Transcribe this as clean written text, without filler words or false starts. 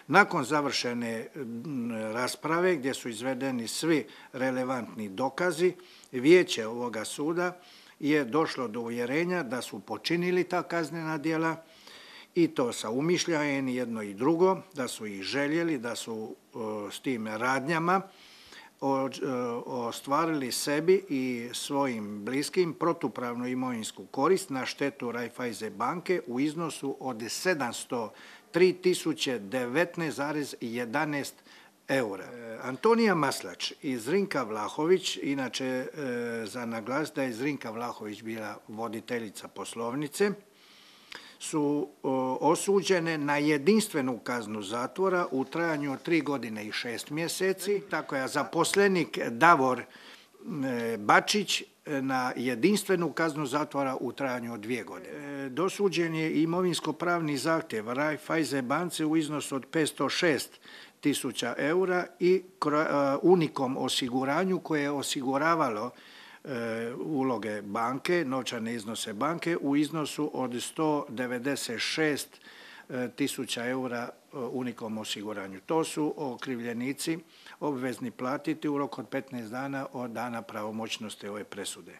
Nakon završene rasprave gdje su izvedeni svi relevantni dokazi, vijeće ovoga suda je došlo do uvjerenja da su počinili ta kaznena djela i to sa umišljajem jedno i drugo, da su ih željeli, da su s tim radnjama ostvarili sebi i svojim bliskim protupravnu imovinsku korist na štetu Raiffeisen banke u iznosu od 703.019,11 eura. Antonija Maslač i Zrinka Vlahović, inače za naglas da je Zrinka Vlahović bila voditeljica poslovnice, su osuđene na jedinstvenu kaznu zatvora u trajanju od 3 godine i 6 mjeseci, tako je zaposlenik Davor Bačić na jedinstvenu kaznu zatvora u trajanju od 2 godine. Dosuđen je imovinsko-pravni zahtjev Raiffeisen banci u iznosu od 506.000 eura i Unicom osiguranju koje je osiguravalo uloge banke, novčane iznose banke u iznosu od 196.000 eura Unicom osiguranju. To su okrivljenici obvezni platiti u roku od 15 dana od dana pravomoćnosti ove presude.